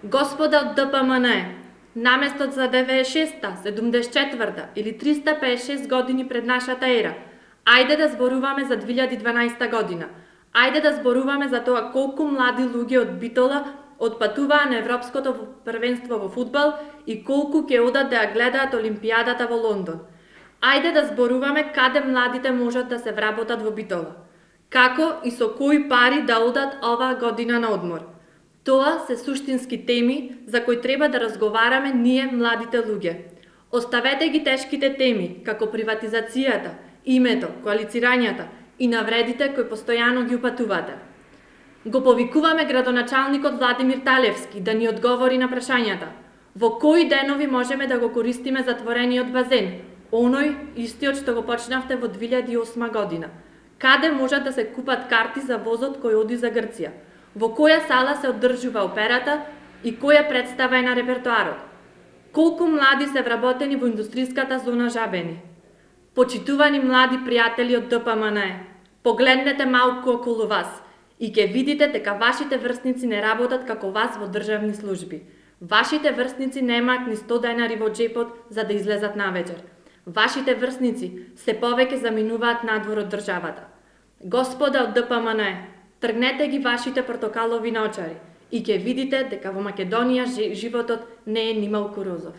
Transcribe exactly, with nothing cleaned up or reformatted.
Господа од Д П М Н Е, наместо за деветдесет и шеста, седумдесет и четврта или триста пеесет и шест години пред нашата ера, ајде да зборуваме за две илјади и дванаесета година. Ајде да зборуваме за тоа колку млади луѓе од Битола отпатуваа на Европското првенство во фудбал и колку ќе одат да ја гледаат Олимпијадата во Лондон. Ајде да зборуваме каде младите можат да се вработат во Битола. Како и со кои пари да одат оваа година на одмор. Тоа се суштински теми за кои треба да разговараме ние младите луѓе. Оставете ги тешките теми, како приватизацијата, името, коалицирањата и навредите кои постојано ги упатувате. Го повикуваме градоначалникот Владимир Талевски да ни одговори на прашањата. Во кои денови можеме да го користиме затворениот базен? Оној истиот што го почнавте во две илјади и осма година. Каде можат да се купат карти за возот кој оди за Грција? Во која сала се одржува операта и која представа е на репертоарот? Колку млади се вработени во индустријската зона Жабени? Почитувани млади пријатели од Д П М Н Е, погледнете малку околу вас и ќе видите дека вашите врсници не работат како вас во државни служби. Вашите врсници немаат ни сто денари во джепот за да излезат навечер. Вашите врсници се повеќе заминуваат надвор од државата. Господа од Д П М Н Е, тргнете ги вашите портокалови наочари и ќе видите дека во Македонија животот не е нималку розов.